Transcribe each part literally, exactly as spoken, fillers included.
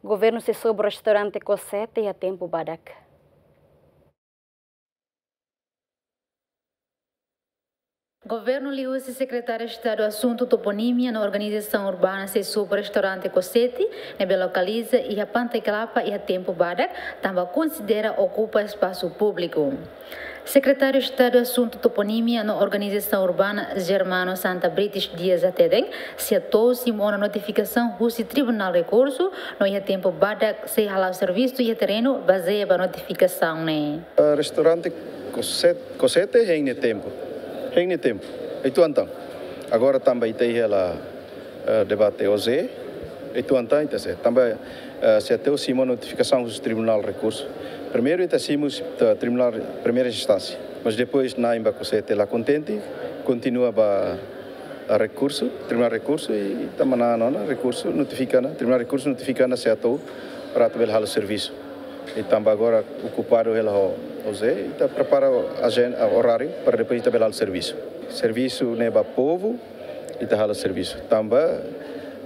Governu sei sobu restaurante Kosete iha tempu badak. Governu liuhusi Sekretáriu Estadu Asuntu Toponímia no Organizasaun Urbana sei sobu restaurante Kosete ne'ebé lokaliza iha Pantai Kelapa iha tempu badak, tanba konsidera okupa espasu públiku. Sekretáriu Estadu Asuntu Toponímia no Organizasaun Urbana, Germano Santa Brites Dias hateten, sei hato'o simu ona notifikasaun husi Tribunál Rekursu, no iha tempu badak sei hala'o servisu iha terrenu bazeia ba notifikasaun ne'e. Eh, restaurante Kosete, Kosete hein nia tempu. Hein nia tempu. Uitoan tan. Agora tanba ita iha hela, eh, debate OJE. Uitoan tan ita sei. Tanba, eh, sei hato'o simu notifikasaun husi Tribunál Rekursu. Primeiru ita simu husi, eh, Tribunál Primeira Instánsia. Mas depois na'in ba Kosete la kontente, kontinua ba, eh, rekursu, Tribunál Rekursu, i ita manán ona rekursu, notifika ona, Tribunál Rekursu notifika ona sei hato'o para atu bele halo servisu. I tanba agora okupadu hela ho OJE, ita prepara ajen-, oráriu para depois ita bele halo servisu. Servisu ne'e ba povu, ita halo servisu. Tanba,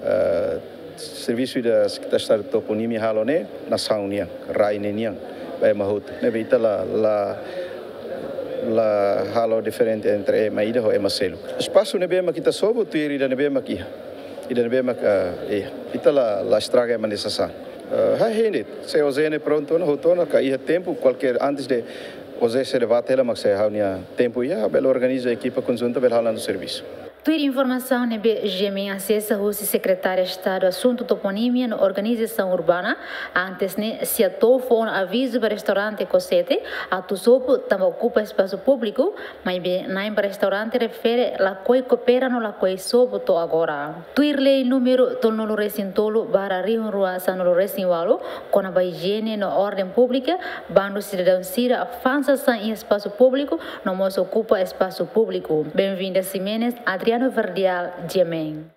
eh, servisu ida Sekretáriu Estadu Toponímia halo ne'e nasaun nian, rai ne'e nian, ba ema hotu. Ne'ebé ita la, la, la halo diferente entre ema ida ho ema seluk. Espasu ne'ebé mak ita sobu, tuir ida ne'ebé mak iha. Ida ne'ebé mak, eh, iha. Ita la, la estraga ema nia sasán. Eh, ha'u hein de'it, se OJE ne'e prontu ona, hotu ona, ka iha tempu, kualkér antes de OJE sei debate hela mak se ha'u-nia tempu iha, bele organiza ekipa konjunta, bele halo ona servisu. Tuir informasaun ne'ebé GMN asesa husi Sekretáriu Estadu Asuntu Toponímia no Organizasaun Urbana, antes ne'e sei hato'o fó ona avizu ba restaurante Kosete atu sobu tanba okupa espasu públiku, maibé na'in ba restaurante refere lakohi koopera no lakohi sobu to'o agora. Tuir lei númeru tolunulu-resin-tolu barra rihun rua sanulu-resin-ualu, kona-ba ijiene no orden públika, bandu sidadaun sira fa'an sasán iha espasu públiku, no mós okupa espasu públiku. Benvinda Ximenes, Adriano Verdial, GMN.